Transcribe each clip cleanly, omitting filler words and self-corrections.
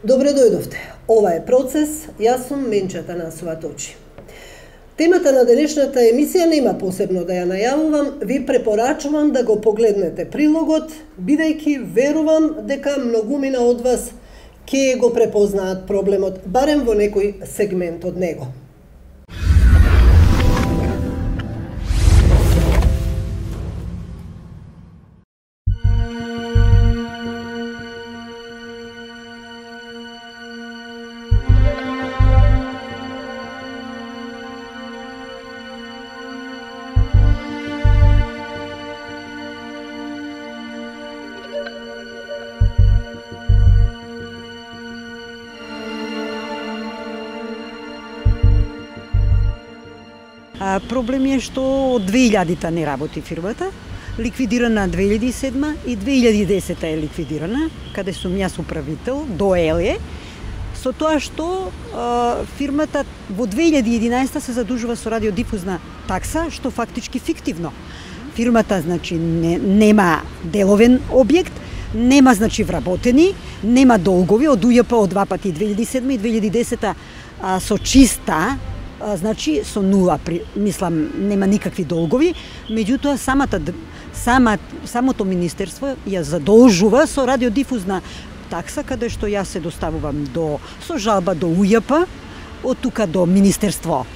Добре дојдовте. Ова е Процес, јас сум Менчета Насова Точи. Темата на денешната емисија нема посебно да ја најавувам, ви препорачувам да го погледнете прилогот, бидејќи верувам дека многумина од вас ќе го препознаат проблемот, барем во некој сегмент од него. Проблем е што од 2000-та не работи фирмата, ликвидирана 2007 и 2010 е ликвидирана, каде сум јас управител, доел е, со тоа што фирмата во 2011 се задужува со радиодифузна такса, што фактички фиктивно. Фирмата, значи, нема деловен објект, нема, значи, вработени, нема долгови, од УЈП од два пати 2007 и 2010 со чиста, значи со нула, мислам, нема никакви долгови, меѓутоа самото министерство ја задолжува со радиодифузна такса, каде што јас се доставувам со жалба до УЈП, од тука до Министерство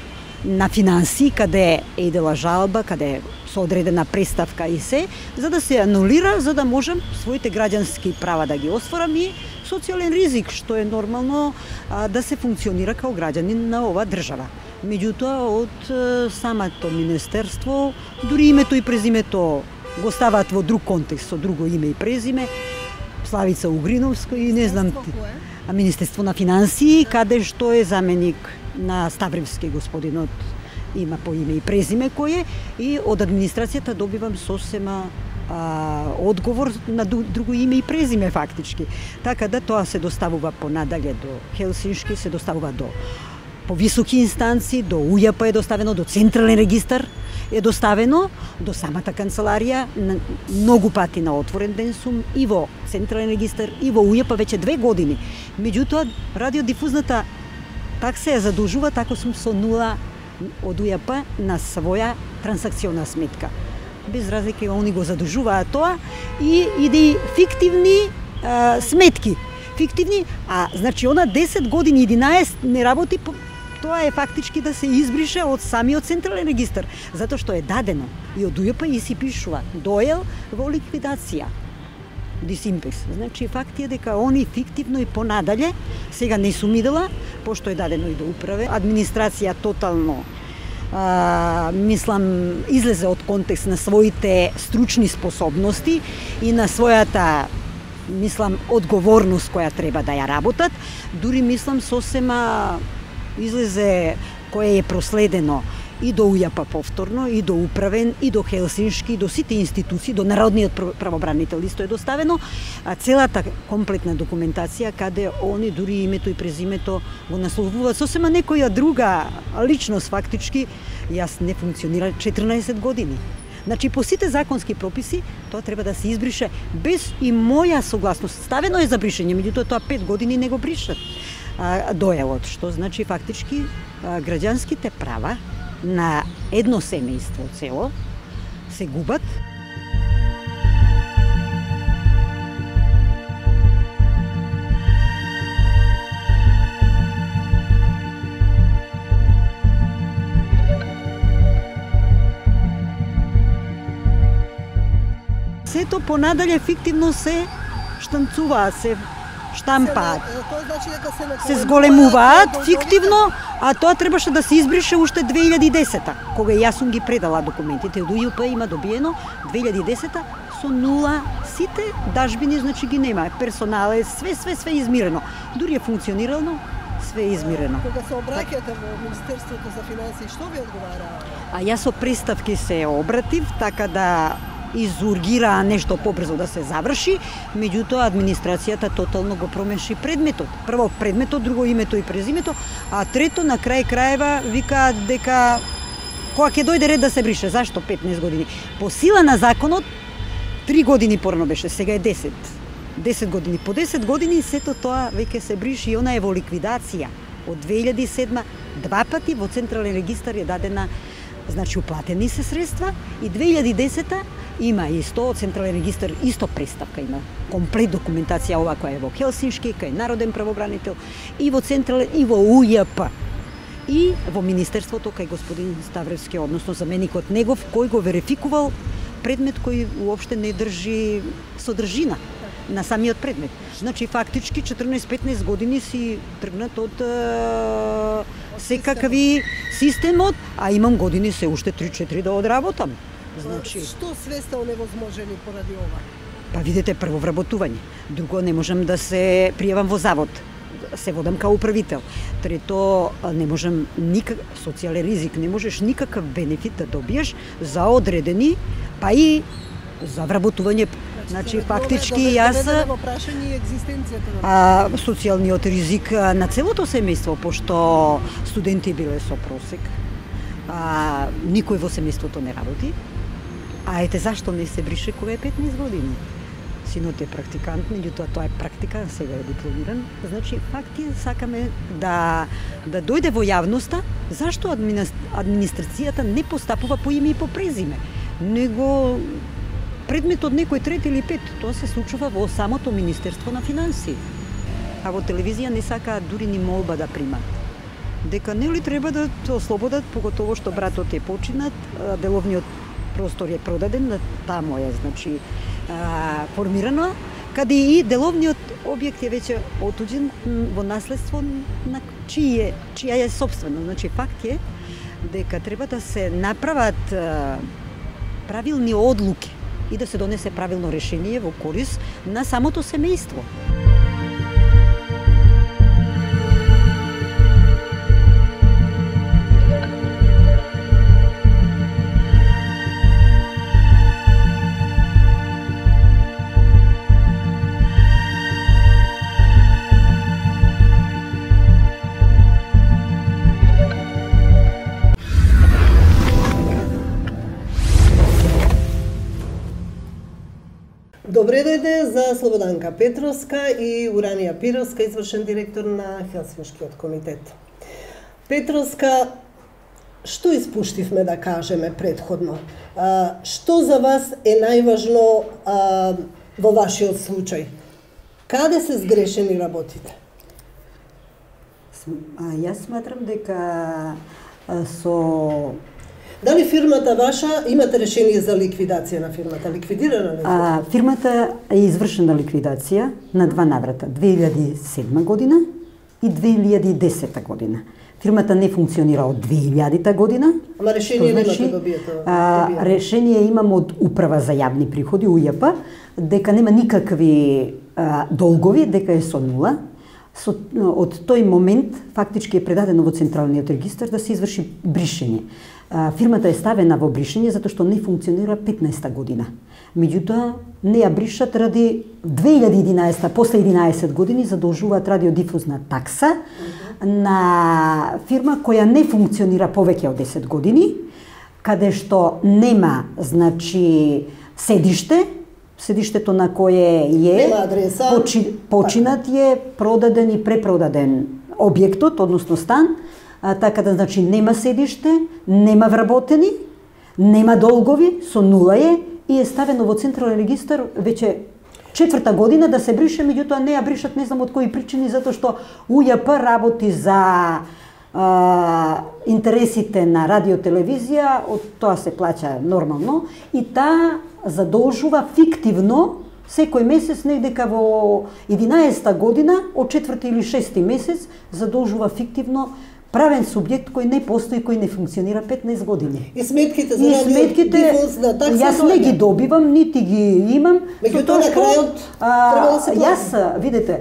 на финансии, каде е идела жалба, каде со одредена преставка и се, за да се анулира, за да можам своите граѓански права да ги осварам и социјален ризик, што е нормално да се функционира као граѓанин на оваа држава. Меѓутоа, од самото министерство, дури името и презимето го ставаат во друг контекст, со друго име и презиме, Славица Угриновска и не знам, Министерство на финансии, каде што е заменик на Ставревски господинот, има по име и презиме кој е, и од администрацијата добивам сосема одговор на друго име и презиме фактички. Така да тоа се доставува понадале до Хелсиншки, се доставува до повисоки инстанции, до УЈП е доставено, до Централен регистар е доставено, до самата канцеларија, многу пати на отворен ден сум и во Централен регистар и во УЈП веќе 2 години. Меѓутоа, радиодифузната такса ја задолжува, тако сум со нула од УЈП на своја трансакциона сметка. Без разлика, они го задолжуваат тоа и иде фиктивни сметки. Фиктивни, значи она 10 години, 11 не работи, тоа е фактички да се избрише од самиот Централен регистар, затоа што е дадено и од УЈП и си пишува доел во ликвидација. Дисимпекс. Значи факт е дека они фиктивно и понадале, сега не сум идела, пошто е дадено и до управе, администрација тотално мислам излезе од контекст на своите стручни способности и на својата мислам одговорност која треба да ја работат, дури мислам сосема излезе кое е проследено и до УЈП повторно, и до управен, и до Хелсиншки, и до сите институции, до Народниот правобранител исто е доставено, целата комплетна документација каде они дури името и презимето го насловуваат сосема некоја друга личност фактички, јас не функционира 14 години. Значи, по сите законски прописи, тоа треба да се избрише без и моја согласност. Ставено е за бришење, меѓутоа тоа 5 години не го бришат доелот, што значи фактички граѓанските права на едно семејство цело се губат. Сето понадале фиктивно се штанцуваат, се штампаат, се зголемуваат фиктивно, а тоа требаше да се избрише уште 2010-та, кога јас сум ги предала документите од УЈП, има добиено 2010-та со нула, сите дажбини, значи ги нема, персонал е све измирено, дури е функционирално, све е измирено. Кога се обраќате во Министерството за финансии, што ви одговара? Јас со приставки се обратив, така да изургираа нешто побрзо да се заврши, меѓутоа администрацијата тотално го промеши предметот. Прво предметот, друго името и презимето, а трето на крај краева викаат дека кога ќе дојде ред да се брише. Зашто 15 години? По сила на законот 3 години порано беше, сега е 10. 10 години. По 10 години сето тоа веќе се бриши и она е во ликвидација. Од 2007 два пати во Централен регистар е дадена, значи уплатени се средства, и 2010 има исто од Централен регистар, исто преставка има. Комплет документација ова која е во Хелсиншки, кај Народен правобранител, и во Централен, и во УЈП. И во Министерството кај господин Ставревски, односно заменикот негов, кој го верификувал предмет кој уопште не држи содржина на самиот предмет. Значи, фактички 14-15 години си тргнат од секакви системот, а имам години се уште 3-4 да одработам. Значи, што све сте оневозможени поради ова? Па видите, прво вработување. Друго, не можам да се пријавам во завод. Се водам као управител. Трето, не можам социјален ризик, не можеш никаков бенефит да добиеш за одредени, па и за вработување. Значи, фактички јас социјалниот ризик на целото семејство, пошто студенти биле со просек, никој во семејството не работи. А ете зашто не се брише кога е 15 години. Синот е практикант, меѓутоа тоа е практикант, сега е дипломиран. Значи, факт е, сакаме да дојде во јавноста зашто администрацијата не постапува по име и по презиме, него предмет од некој трет или пет. Тоа се случува во самото Министерство на финансии. А во телевизија не сакаат дури ни молба да примат. Дека нели треба да ослободат, поготово што братот е починат, деловниот простор е продаден, на тамо е, значи, формирано, каде и деловниот објект е веќе отуѓен во наследство на чија е собствено. Значи, факт е дека треба да се направат правилни одлуки и да се донесе правилно решение во корист на самото семејство. Добре дојде за Слободанка Петровска и Уранија Пировска, извршен директор на Хелсиншкиот комитет. Петровска, што испуштивме да кажеме предходно? Што за вас е најважно во вашиот случај? Каде се сгрешени работите? Јас сматрам дека со... Дали фирмата ваша, имате решение за ликвидација на фирмата? Ликвидирана ли? Фирмата е извршена ликвидација на два наврата, 2007 година и 2010 година. Фирмата не функционира од 2000 година. Ама решение немате добиете? Решение имам од Управа за јавни приходи, УЈП, дека нема никакви долгови, дека е со нула. Од тој момент фактички е предадено во Централниот регистар да се изврши бришење. Фирмата е ставена во бришење затоа што не функционира 15-та година. Меѓутоа, не ја бришат ради 2011, после 11 години задолжуваат радиодифузна такса на фирма која не функционира повеќе од 10 години, каде што нема, значи, седиштето на кое е починат е, продаден и препродаден објектот, односно стан, така да, значи, нема седиште, нема вработени, нема долгови, со нула е и е ставено во Централен регистар веќе 4-та година да се брише, меѓутоа не ја бришат, не знам од кои причини, затоа што УЈП работи за интересите на радиотелевизија, од тоа се плаќа нормално и таа задолжува фиктивно секој месец, недека во 11-та година, од 4-ти или 6-ти месец, задолжува фиктивно правен субјект кој не постои, кој не функционира 15 години. И сметките за радиодифузна такса? Јас не ги добивам, нити ги имам. Меѓутоа на крајот треба да се плати. Јас, видите,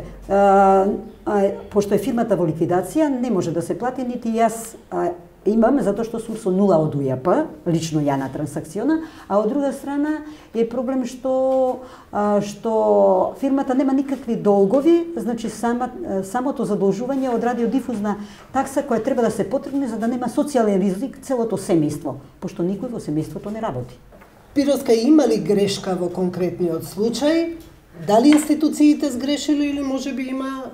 пошто е фирмата во ликвидација, не може да се плати, нити јас имам, затоа што сум со нула од УЈП, лично ја на трансакциона, а од друга страна е проблем што фирмата нема никакви долгови, значи самото задолжување од радиодифузна такса која треба да се потребне за да нема социјален ризик целото семејство, пошто никој во семејството не работи. Пировска, има ли грешка во конкретниот случај? Дали институциите сгрешили или можеби има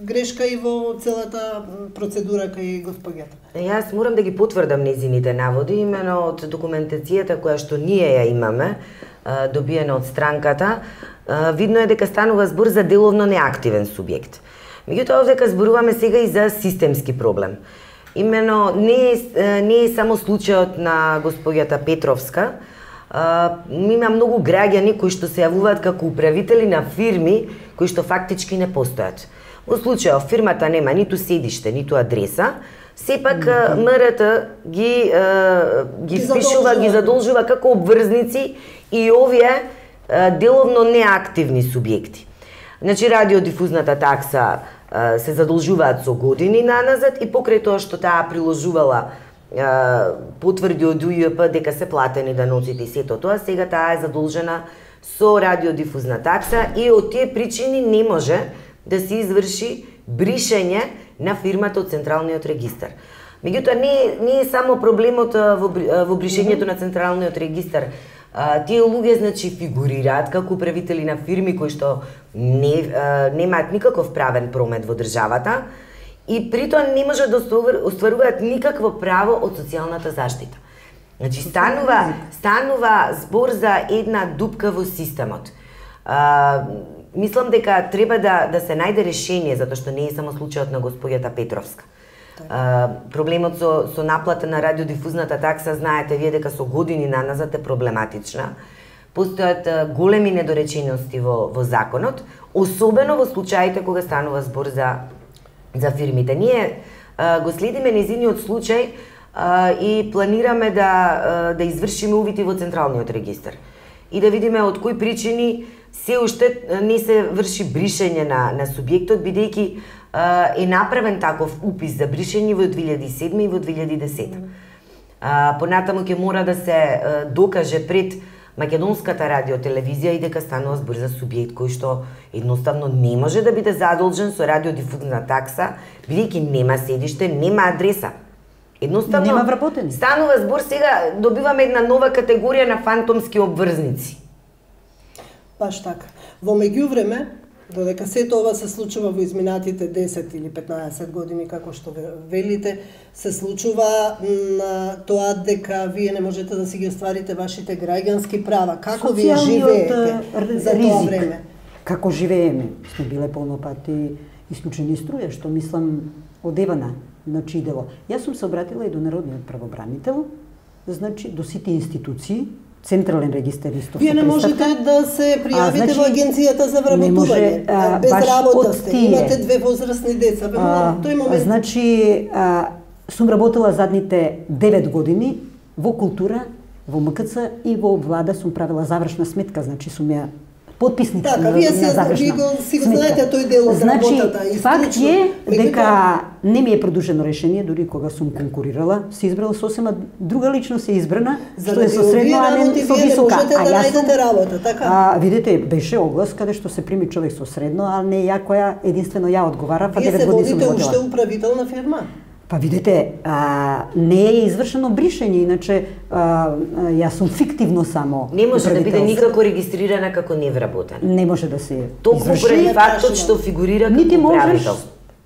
грешка и во целата процедура кај госпоѓата? Јас морам да ги потврдам нејзините наводи, имено од документацијата која што ние ја имаме, добиена од странката, видно е дека станува збор за деловно неактивен субјект. Меѓутоа, овдека зборуваме сега и за системски проблем. Имено, не е само случајот на госпоѓата Петровска, има многу граѓани кои што се јавуваат како управители на фирми кои што фактички не постојат. Во случајот фирмата нема ниту седиште, ниту адреса, сепак МРТ ги впишува, ги задолжува како обврзници и овие деловно неактивни субјекти. Значи, радиодифузната такса се задолжуваат со години наназад и покрај тоа што таа приложувала потврди од УЈП дека се платени даноците и сето тоа, сега таа е задолжена со радиодифузна такса и од тие причини не може да се изврши бришење на фирмата од Централниот регистар. Меѓутоа, не е само проблемот во бришењето на Централниот регистар. Тие луѓе, значи, фигурираат како управители на фирми кои што немаат никаков правен промет во државата и притоа не може да остваруваат никакво право од социјалната заштита. Значи, станува збор за една дупка во системот. Мислам дека треба да се најде решение, затоа што не е само случајот на госпоѓата Петровска. Проблемот со наплата на радиодифузната такса, знаете вие дека со години наназад е проблематична. Постојат големи недоречености во законот, особено во случаите кога станува збор за фирмите. Ние го следиме нејзиниот случај и планираме да извршиме увити во Централниот регистар и да видиме од кои причини се уште не се врши бришење на субјектот, бидејќи е направен таков упис за бришење во 2007 и во 2010. Понатаму ќе мора да се докаже пред Македонската радиотелевизија и дека станува збор за субјект кој што едноставно не може да биде задолжен со радиодифузна такса, бидејќи нема седиште, нема адреса. Едноставно нема вработени. Станува збор, сега добиваме една нова категорија на фантомски обврзници. Баш така. Во меѓувреме, додека сето ова се случува во изминатите 10 или 15 години, како што велите, се случува на тоа дека вие не можете да си ги остварите вашите граѓански права. Како вие живеете за тоа време? Како живееме? Сме биле полнопати исклучени струја, што мислам одевана значи дело. Јас сум се обратила и до Народниот правобранител, значи до сите институции, Централен регистар исто. Вие не можете да се пријавите во агенцијата за вработување. Без работа сте, имате 2 возрастни деца. Тој момент. Значи, сум работела задните 9 години во култура, во МКЦ и во влада сум правила завршна сметка, значи сум ја потписник на завршна сметка. Си го знаете тој дел од работата и факт е дека не ми е продолжено решение, дури кога сум конкурирала, се избрала сосема друга личност е избрана, што е со средно, а не со висока. А јас сум работа, така? Видите, беше оглас каде што се прими човек со средно, а не ја која единствено ја одговара, па 9 години сум водите уште управител на фирма. Па видите, не е извршено бришење, иначе јас сум фиктивно само. Не може да биде никако регистрирана како невработен. Не може да се толку поради фактот што фигурира како управител.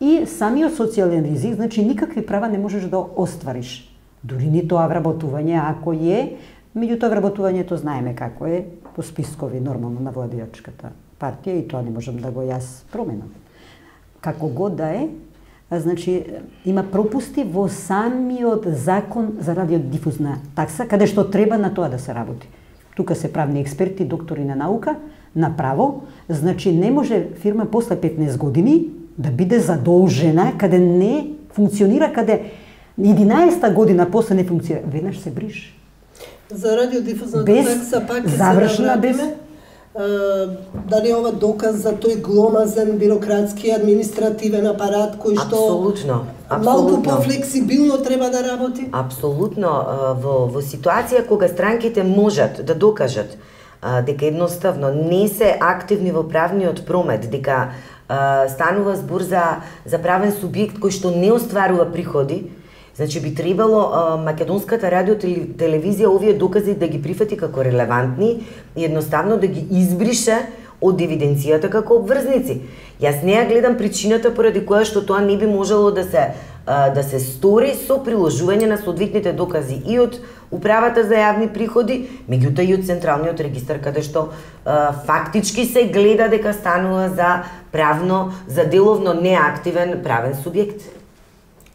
И самиот социјален ризик, значи никакви права не можеш да оствариш. Дури ни тоа вработување, ако е, меѓутоа вработувањето знаеме како е по спискови нормално на владеачката партија и тоа не можам да го јас променам. Како год да е, значи има пропусти во самиот закон за радиодифузна такса, каде што треба на тоа да се работи. Тука се правни експерти, доктори на наука, на право, значи не може фирма после 15 години да биде задолжена каде не функционира, каде 11-та година после не функционира, веднаш се бриш. За радиодифузната такса пак ќе се навратиме. Дали ова доказ за тој гломазен бирократски административен апарат кој што малку пофлексибилно треба да работи? Апсолутно. Во ситуација кога странките можат да докажат дека едноставно не се активни во правниот промет, дека станува збор за правен субјект кој што не остварува приходи, значи би требало Македонската радиотелевизија овие докази да ги прифати како релевантни и едноставно да ги избрише од евиденцијата како обврзници. Јас не ја гледам причината поради која што тоа не би можело да се стори со приложување на соодветните докази и од Управата за јавни приходи, меѓутоа и од Централниот регистар, каде што фактички се гледа дека станува за деловно неактивен правен субјект.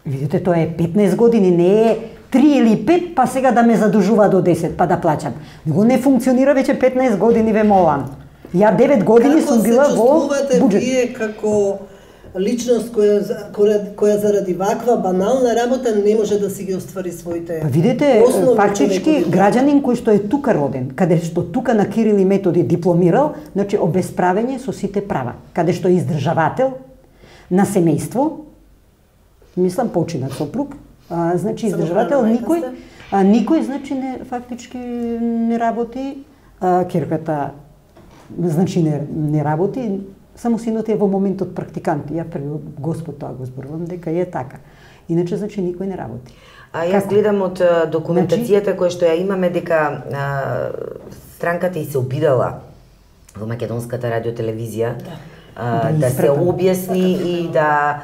Видите, тоа е 15 години, не е 3 или 5, па сега да ме задужува до 10, па да плаќам. Него не функционира веќе 15 години, ве молам. Ја 9 години сум била во буџет. Како се чувствувате вие како личност која заради ваква банална работа не може да си ги оствари своите видите, фактички граѓанин кој што е тука роден, каде што тука на Кирил и Методи дипломирал, значи обесправење со сите права, каде што е издржавател на семејство, мислам починат сопруг, значи издржавател, никој значи фактички не работи, ќерката значи не работи, само синот е во моментот практикант. Ја први Господ тоа го зборувам дека е така. Иначе значи никој не работи. Јас гледам од документацијата која што ја имаме дека странката и се обидала во Македонската радиотелевизија да се објасни и да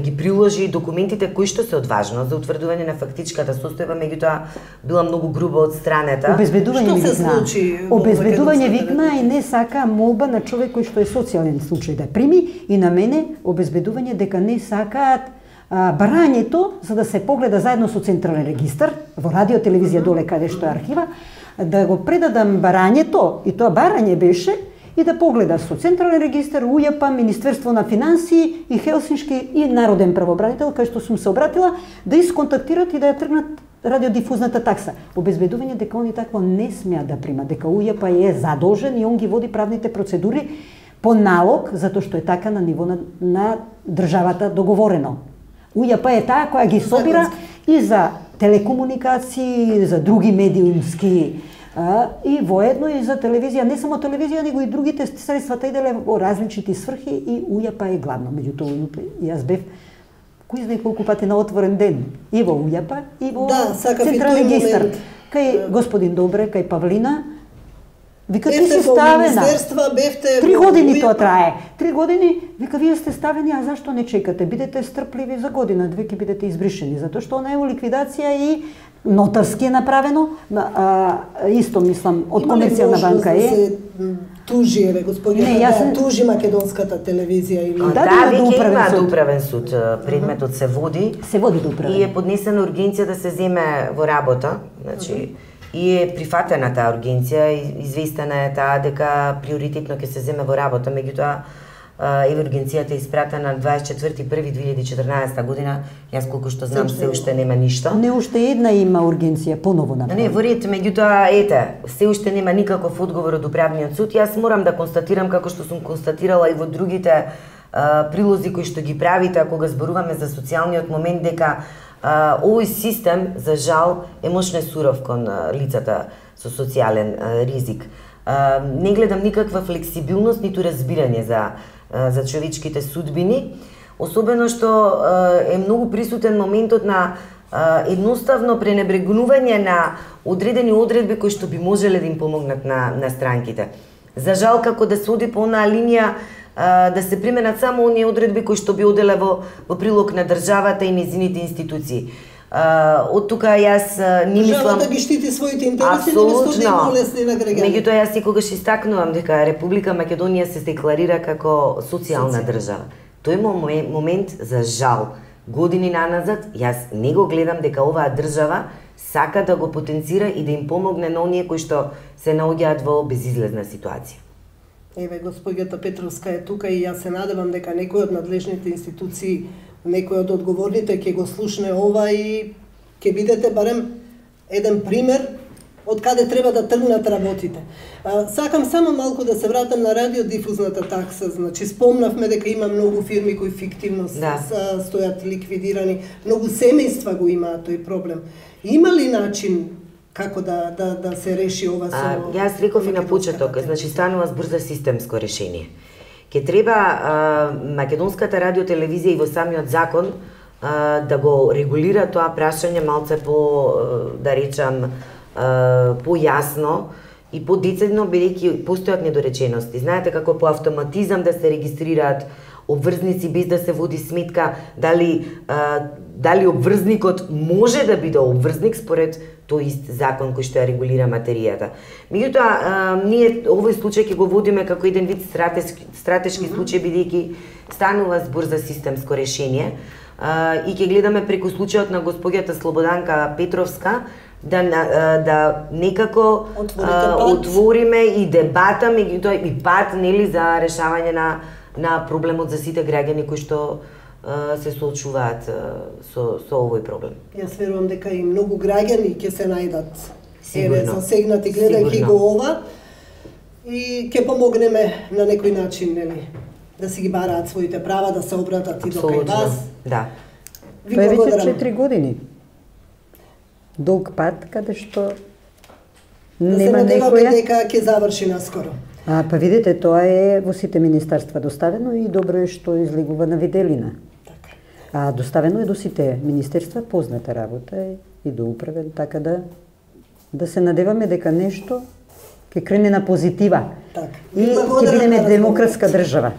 ги приложи документите кои што се од важност за утврдување на фактичката состојба, меѓутоа била многу груба од страната. Обезбедување викна и не сака молба на човек кој што е социјален случај да прими и на мене обезбедување дека не сакаат барањето за да се погледа заедно со Централен регистар во радиотелевизија доле каде што е архива, да го предадам барањето и тоа барање беше и да погледа со Централен регистар, УЈП, Министерство на финансии и Хелсиншки и Народен правобранител, кај што сум се обратила, да исконтактират и да ја тргнат радиодифузната такса. Обезбедување дека они такво не смеат да примат, дека УЈП е задолжен и он ги води правните процедури по налог, затоа што е така на ниво на државата договорено. УЈП е таа која ги собира и за телекомуникации, и за други медиумски и воедно и за телевизија, не само телевизија, него и другите средствата иделе во различити сврхи и УЈП е главно. Меѓутоа, јас бев кој знае колку пати на отворен ден и во УЈП и во Централен регистар. Кај господин Добре, кај Павлина, вика, ти си ставена. 3 години тоа трае. 3 години, вика, вие сте ставени, а зашто не чекате? Бидете стрпливи за година, две ќе бидете избришени, затоа што она е во ликвидација и нотарски е направено, исто мислам од Комерцијална банка е. Тужи, господине, тужи Македонската телевизија или веќе има управен суд, предметот се води. Се води до управен. И е поднесена ургенција да се земе во работа, значи и е прифатена таа ургенција, известена е таа дека приоритетно ќе се земе во работа, меѓутоа ургенцијата е испратена 24.1.2014 година, јас колку што знам се уште нема ништо. Не уште една има ургенција поново направена. Не, во ред, меѓутоа се уште нема никаков одговор од управниот суд. Јас морам да констатирам како што сум констатирала и во другите прилози кои што ги правите кога зборуваме за социјалниот момент, дека овој систем за жал е мошне суров кон лицата со социјален ризик. Не гледам никаква флексибилност ниту разбирање за човечките судбини, особено што е многу присутен моментот на едноставно пренебрегнување на одредени одредби кои што би можеле да им помогнат на странките. За жал, како да се оди по онаа линија да се применат само оние одредби кои што би оделе во прилог на државата и нејзините институции. Од тука јас не мислам... Државата ги штити своите интереси, наместо да им улесни на граѓаните. Меѓутоа јас секогаш истакнувам дека Република Македонија се декларира како социјална држава. Тој момент, за жал, години наназад, јас не го гледам дека оваа држава сака да го потенцира и да им помогне на оние кои што се наоѓаат во безизлезна ситуација. Еве, господјата Петровска е тука и јас се надевам дека некој од надлежните институции, некој од одговорните ќе го слушне ова и ќе бидете барем еден пример од каде треба да тргнат работите. Сакам само малку да се вратам на радиодифузната такса. Значи, спомнавме дека има многу фирми кои фиктивно стојат ликвидирани, многу семејства го имаат тој проблем. Има ли начин како да се реши ова со... Јас реков и на почеток, значи станува збор за системско решение. Ке треба Македонската радиотелевизија и во самиот закон да го регулира тоа прашање малце по, да речам, појасно и подецидно бидејќи постојат недоречености. Знаете како по автоматизам да се регистрираат обврзници без да се води сметка дали обврзникот може да биде обврзник според тој ист закон кој што ја регулира материјата. Меѓутоа, ние овој случај ќе го водиме како еден вид стратешки случај, бидејќи станува збор за системско решение и ќе гледаме преку случајот на госпоѓата Слободанка Петровска да некако отвориме и дебата, меѓутоа и пат нели за решавање на проблемот за сите граѓани кои што се соочуваат со овој проблем. Јас верувам дека и многу граѓани ќе се најдат засегнати гледајќи го ова и ќе помогнеме на некој начин, нели, да си ги бараат своите права, да се обратат и до кај вас. Да. Тоа е веќе 4 години. Долг пат каде што нема некоја. Да се надеваме дека ќе заврши наскоро. Па видите, тоа е во сите министерства доставено и добро е што излегува на виделина. Така. Доставено е до сите министерства, позната работа и до управен, така да се надеваме дека нешто ќе крене на позитива. Така. И ќе бидеме демократска држава.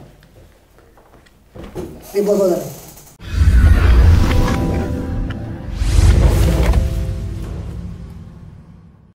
И благодарам.